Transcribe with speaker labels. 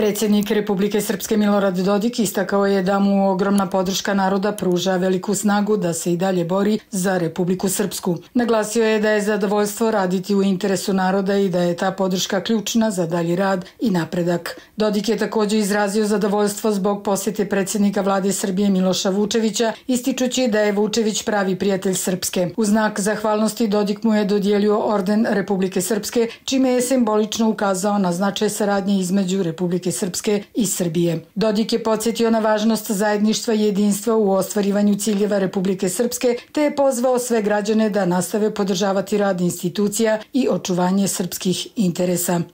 Speaker 1: Predsjednik Republike Srpske Milorad Dodik istakao je da mu ogromna podrška naroda pruža veliku snagu da se i dalje bori za Republiku Srpsku. Naglasio je da je zadovoljstvo raditi u interesu naroda i da je ta podrška ključna za dalji rad i napredak. Dodik je također izrazio zadovoljstvo zbog posjete predsjednika vlade Srbije Miloša Vučevića, ističući da je Vučević pravi prijatelj Srpske. U znak zahvalnosti Dodik mu je dodijelio orden Republike Srpske, čime je simbolično ukazao na značaj saradnje između Republike Srpske i Srbije. Dodik je podsjetio na važnost zajedništva i jedinstva u ostvarivanju ciljeva Republike Srpske, te je pozvao sve građane da nastave podržavati rad institucija i očuvanje srpskih interesa.